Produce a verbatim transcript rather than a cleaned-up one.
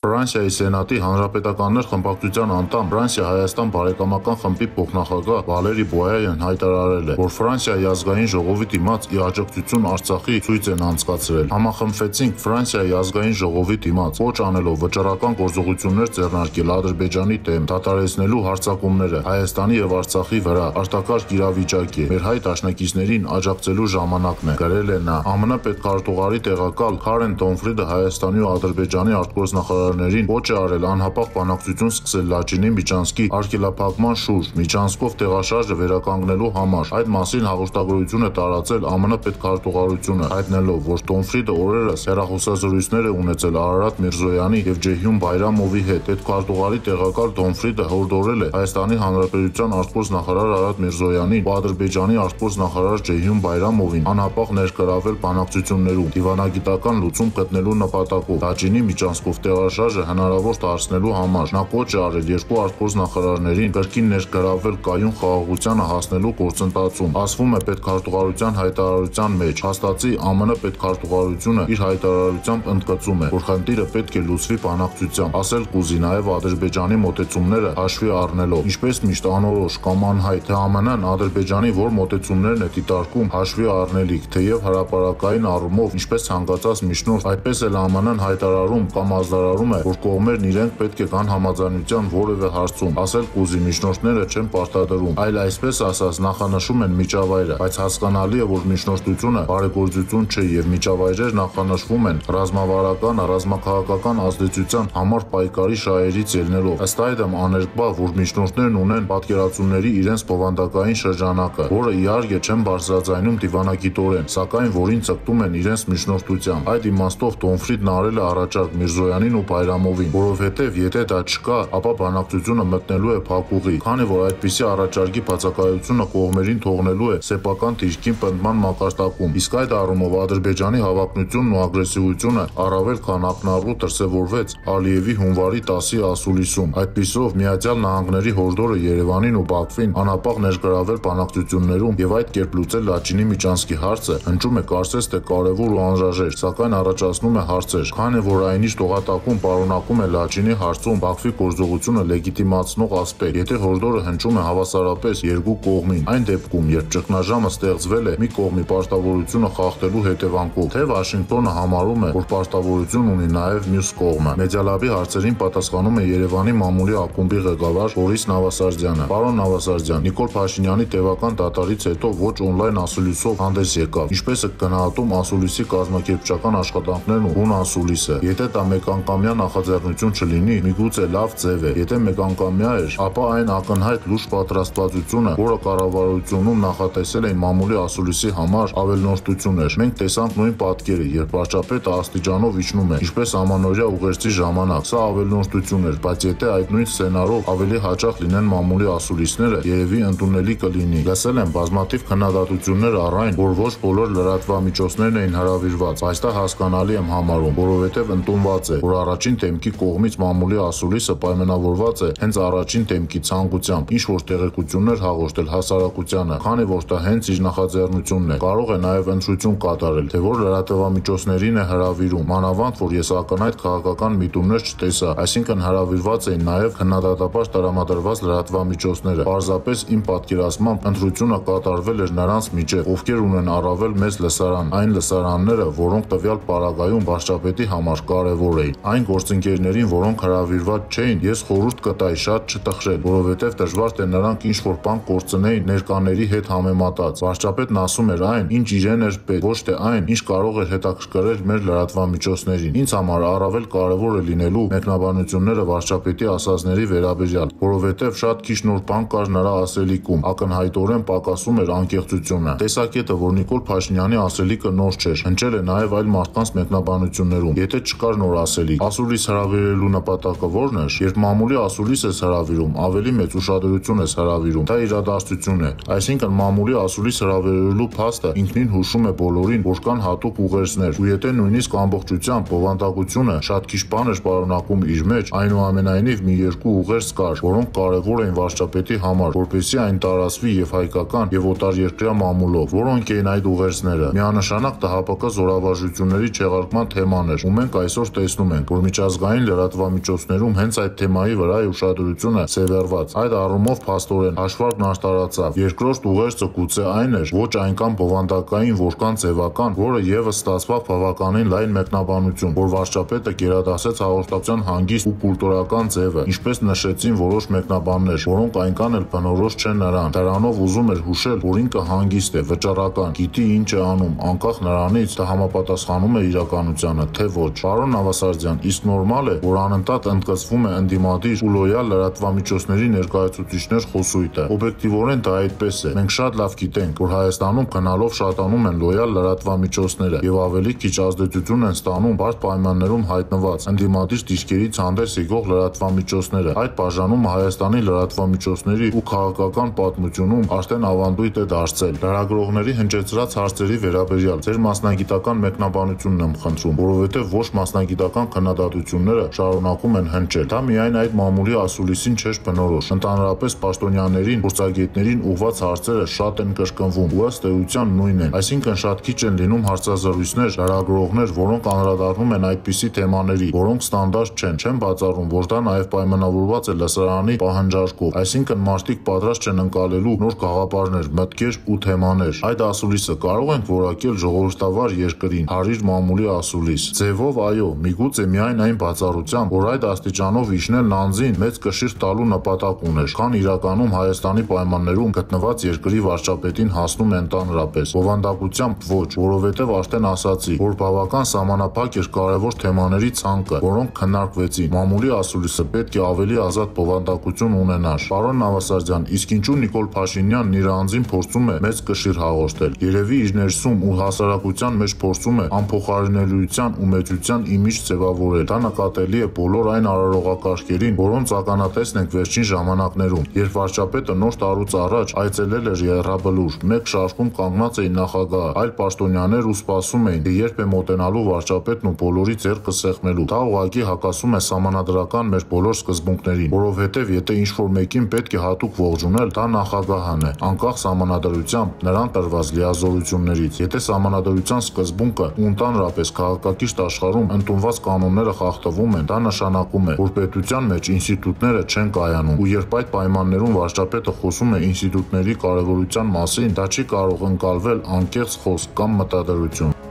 Ֆրանսիայի Սենատի հանրապետականներ խմբակցության անդամ Ֆրանսիա-Հայաստան բարեկամական խմբի փոխնախագահ Վալերի Բոյայան հայտարարել է, որ Ֆրանսիայի ազգային ժողովի դիմաց ի աջակցություն Արցախի ցույց են անցկացրել։ Համախմբվեցինք Ֆրանսիայի ազգային ժողովի դիմաց, կոչ անելով վճռական գործողություններ ձեռնարկել Ադրբեջանի դեմ, դադարեցնելու հարձակումները Հայաստանի եւ Արցախի վրա արտակարգ իրավիճակ է։ Մեր հայ դաշնակիցներին աջակցելու ժամանակն է, գրել է նա։ ԱՄՆ պետքարտուղարի տեղակալ Քարեն Տոնֆրիդը Հայաստանի ու Ադրբեջանի արտգործնախարարներին կոչ է արել անհապաղ բանակցություն սկսել Լաչինի Միջանցքի արգելափակման շուրջ Միջանցքով տեղաշարժը վերականգնելու համար։ Այդ մասին հաղորդագրություն է տարածել ԱՄՆ պետքարտուղարությունը, հայտնելով, որ Տոնֆրիդը օրերս հեռախոսազրույցներ է ունեցել Արարատ Միրզոյանի եւ Ջեհյուն Բայրամովի հետ։ Պետքարտուղարի տեղակալ Տոնֆրիդը հորդորել է Հայաստանի Հանրապետության արտգործնախարար Արարատ Միրզոյանին ու Ադրբեջանի արտգործնախարար Ջեհյուն Բայրամովին անհապաղ ներգրավել բանակցություններում դիվանագիտական լուծում գտնելու նպատակով Լաչինի Միջանցքով տեղաշարժը հնարավոր դարձնելու համար։ Նա կոչ է արել երկու արտգործնախարարներին կրկին ներգրավել կայուն խաղաղությանը հասնելու գործընթացում։ Ասվում է պետքարտուղարության հայտարարության մեջ, հաստատի ԱՄՆ պետքարտուղարությունը իր հայտարարությամբ ընդգծում է, որ խնդիրը պետք է լուծվի բանակցությամբ, ասել կուզի նաև Ադրբեջանի մոտեցումները հաշվի առնելով։ Ինչպես միշտ անորոշ կամ անհայտ, թե ԱՄՆ-ն Ադրբեջանի որ մոտեցումներն է դիտարկում հաշվի առնելիք, թեև հրապարակային առումով, ինչպես ցանկացած միջնորդ, այդպես էլ ԱՄՆ-ն հայտարարում կամ ազդարարում է, որ կողմերն իրենք պետք է գան համաձայնության որևէ հարցում, ասել կուզի միջնորդները չեն պարտադրում, այլ այսպես ասած նախանշում են միջավայրը, բայց հասկանալի է, որ միջնորդությունը բարեգործություն չէ եւ միջավայրեր նախանշվում են ռազմավարական, ռազմաքաղաքական ազդեցության համար պայքարի շահերից ելնելով։ Ըստ այդմ աներկբա, որ միջնորդներն ունեն պատկերացումների իրենց բովանդակային շրջանակը, որը իհարկե չեն բարձրաձայնում դիվանագիտորեն, սակայն որին ցկտում են իրենց միջնորդությամբ։ Այդ իմաստով Տոնֆրիդն արել է առաջարկ Միրզոյանին ու Բայրամովին, որովհետև եթե դա չկա, ապա բանակցությունը մտնելու է փակուղի, քանի որ այդպիսի առաջարկի բացակայությունը կողմերին թողնելու է սեփական դիրքին պնդման մակարդակում։ Իսկ այդ առումով Ադրբեջանի հավակնությունն ու ագրեսիվությունը առավել քան ակնառու դրսևորվեց Ալիևի հունվարի տասի ասուլիսում։ Այդպիսով Միացյալ Նահանգների հորդորը Երևանին ու Բաքվին անհապաղ ներգրավել բանակցություններում եւ այդ կերպ լուծել Լաչինի Միջանցքի հարցը հնչում է կարծես թե կարևոր ու անհրաժեշտ, սակայն առաջացնում է հարցեր, քանի որ այնիշ տողատակում պարունակում է Լաչինի հարցում Բաքվի գործողությունը լեգիտիմացնող ասպեկտ, եթե հորդորը հնչում է հավասարապես երկու կողմին, այն դեպքում, երբ ճգնաժամը ստեղծվել է մի կողմի պարտավորությունը խախտելու հետևանքով, թե Վաշինգտոնը համարում է, որ պարտավորություն ունի նաև մյուս կողմը։ Մեդիալաբի հարցերին պատասխանում է Երևանի մամուլի ակումբի ղեկավար Բորիս Նավասարդյանը։ Պարոն Նավասարդյան, Նիկոլ Փաշինյանի տևական դատարից հետո ոչ օնլայն ասուլիսով հանդես եկավ։ Ինչպես է գնահատում ասուլիսի կազմակերպչական աշխատանքներն ու հուն ասուլիսը։ Եթե դա մեկանգամյա նախաձեռնություն չլինի, միգուցե լավ ձև է։ Եթե մեկանգամյա էր, ապա այն ակնհայտ լուրջ պատրաստվածությունը, որը կառավարությունում նախատեսել էին մամուլի ասուլիսի համար, ավելնորդություն էր։ Մենք տեսանք նույն պատկերը, երբ վարչապետը աստիճանով իջնում է, ինչպես ամանորյա ուղերձի ժամանակ։ Սա ավելնորդություն էր, բայց եթե այդ նույն սցենարով ավելի հաճախ լինեն մամուլի ասուլիսները, երևի ընդունելի կլինի։ Լսել եմ բազմաթիվ քննադատություններ առ այն, որ ոչ բոլոր լրատվամիջոցներն էին հրավիրված, բայց դա հասկանալի եմ համարում, որովհետև ընդունված է, որ առաջին դեմքի կողմից մամուլի ասուլիսը պայմանավորված է հենց առաջին դեմքի ցանկությամբ, ինչ որ տեղեկություններ հաղորդել հասարակությանը, քանի որ դա հենց իր նախաձեռնությունն է։ Կարող է նաև ընտրություն կատարել, թե որ լրատվամիջոցներին է հրավիրում, մանավանդ որ ես ակնհայտ քաղաքական միտումներ չտեսա, այսինքն հրավիրված էին նաև քննադատաբար տրամադրված լրատվամիջոցները։ Պարզապես իմ պատկերացմամբ ընտրությունը կատարվել էր նրանց միջև, ովքեր ունեն առավել մեծ լսարան, այն լսարանները, որոնք տվյալ պարագայում վարչապետի համար կարևոր էին։ Այն գործընկերներին, որոնք հրավիրված չէին, ես խորհուրդ կտայի շատ չտխրել, որովհետև դժվար թե նրանք ինչ որ բան կորցնեին ներկաների հետ համեմատած։ Վարչապետն ասում էր այն, ինչ իրեն էր պետք, ոչ թե այն, ինչ կարող էր հետաքրքրել մեր լրատվամիջոցներին։ Ինձ համար առավել կարևոր է լինելու մեկնաբանությունները վարչապետի ասածների վերաբերյալ, որովհետև շատ քիչ նոր բան կար նրա ասելիքում, ակնհայտորեն պակասում էր անկեղծությունը։ Տեսակետը, որ Նիկոլ Փաշինյանի ասելիքը նոր չէր, հնչել է նաև այլ մարդկանց մեկնաբանություններում։ Եթե չկար նոր ասելիք, ասուլիս հրավիրելու նպատակը ո՞րն էր։ Երբ մամուլի ասուլիս ես հրավիրում, ավելի մեծ ուշադրություն ես հրավիրում, դա իրադարձություն է։ Այսինքն մամուլի ասուլիս հրավիրելու փաստը ինքնին հուշում է բոլորին, որ կան հատուկ ուղերձներ, ու եթե նույնիսկ ամբողջությամբ բովանդակությունը շատ քիչ բան էր պարունակում իր մեջ, այնուամենայնիվ մի երկու ուղերձ կար, որոնք կարևոր էին վարչապետի համար, որպեսզի այն տարածվի եւ հայկական եւ օտարերկրյա մամուլով։ Որոնք էին այդ ուղերձները։ Միանշանակ ՏՀՊԿ զորավարժությունների չեղարկման թեման էր, ու մենք այսօր տեսնում ենք, որ միջազգային լրատվամիջոցներում հենց այդ թեմայի վրա է ուշադրությունը սևեռված։ Այդ առումով փաստորեն հաշվարկն արտարացավ։ Երկրորդ ուղերձը գուցե այն էր, ոչ այնքան բովանդակային, որքան ձևական, որը ևս ստացվավ բավականին լայն մեկնաբանություն, որ վարչապետը գերադասեց հաղորդակցության հանգիստ ու կուլտուրական ձևը, ինչպես նշեցին որոշ մեկնաբաններ, որոնք այնքան էլ բնորոշ չեն նրան։ Դրանով ուզում էր հուշել, որ ինքը հանգիստ է, վճռական, գիտի ինչ է անում, անկախ նրանից, թե համապատասխանում է իրականությանը, թե ոչ։ Պարոն Նավասարդյան, իսկ նորմալ է, որ անընդհատ ընդգծվում է ընդդիմադիր ու լոյալ լրատվամիջոցների ներկայացուցիչներ խոսույթը։ Օբյեկտիվորեն դա այդպես է։ Մենք շատ լավ գիտենք, որ Հայաստանում գնալով շատանում են լոյալ լրատվամիջոցները եւ ավելի քիչ ազդեցություն են ստանում բարդ պայմաններում հայտնված ընդդիմադիր դիրքերից հանդես եկող լրատվամիջոցները։ Այդ բաժանումը Հայաստանի լրատվամիջոցների ու քաղաքական պատմությունում արդեն ավանդույթ է դարձել։ Լրագրողների հնչեցրած հարցերի վերաբերյալ ձեր մասնագիտական մեկնաբանությունն եմ խնդրում, որովհետև ոչ մասնագիտական քննադատությունները շարունակում են հնչել։ Դա միայն այդ մամուլի ասուլիսին չէր բնորոշ։ Ընդհանրապես պաշտոնյաներին, փորձագետներին ուղղված հարցերը շատ են կրկնվում ու ըստ էության նույնն են։ Այսինքն շատ քիչ են լինում հարցազրույցներ, լրագրողներ, որոնք անդրադառնում են այդպիսի թեմաների, որոնք ստանդարտ չեն։ Չեմ բացառում, որ դա նաև պայմանավորված է լսարանի պահանջարկով, այսինքն մարդիկ պատրաստ չեն ընկալելու նոր գաղափարներ, մտքեր ու թեմաներ։ Այդ ասուլիսը կարող ենք որակել ժողովրդավար երկրին, հարիր մամուլի ասուլիս։ Ձևով այո, միգուցե միայն այն բացառությամբ, որ այդ աստիճանով իջնել նանձին մեծ կշիռ տալու նպատակ ուներ, քան իրականում Հայաստանի պայմաններում գտնված երկրի վարչապետին հասնում է ընդհանրապես։ Բովանդակությամբ ոչ, որովհետև արդեն ասացի, որ բավական սահմանափակ էր կարևոր թեմաների ցանկը, որոնք քննարկվեցին։ Մամուլի ասուլիսը պետք է ավելի ազատ բովանդակություն ունենար։ Պարոն Նավասարդյան, իսկ ինչու Նիկոլ Փաշինյանն իր անձին փորձում է մեծ կշիռ հաղորդել։ Երևի իր ներսում ու հասարակության մեջ փորձում է անփոխարինելիության ու մեծության իմիջ ձևավորել։ Դա նկատելի է բոլոր այն արարողակարգերին, որոնց ականատեսն ենք վերջին ժամանակներում, երբ վարչապետը նոր տարուց առաջ այցելել էր Եռաբլուր, մեկ շարքում կանգնած էին նախագահը, այլ պաշտոնյաներ ու սպասում էին, թե երբ է մոտենալու վարչապետն ու բոլորի ձեռքը սեղմելու։ Դա ուղղակի հակասում է սահմանադրական մեր բոլոր սկզբունքներին, որովհետև եթե ինչ-որ մեկին պետք է հատուկ ողջունել, դա նախագահն է, անկախ սահմանադրությամբ նրան տրված լիազորություններից։ Եթե սահմանադրության սկզբունքը ու ընդհանրապես քաղաքակիրթ աշխարհում ընդունված կանոնները խախտվում են, դա նշանակում է, որ պետության մեջ ինստիտուտները չեն կայանում, ու երբ այդ պայմաններում վարչապետը խոսում է ինստիտուտների կարևորության մասին, դա չի կարող ընկալվել անկեղծ խոսք կամ մտադրություն։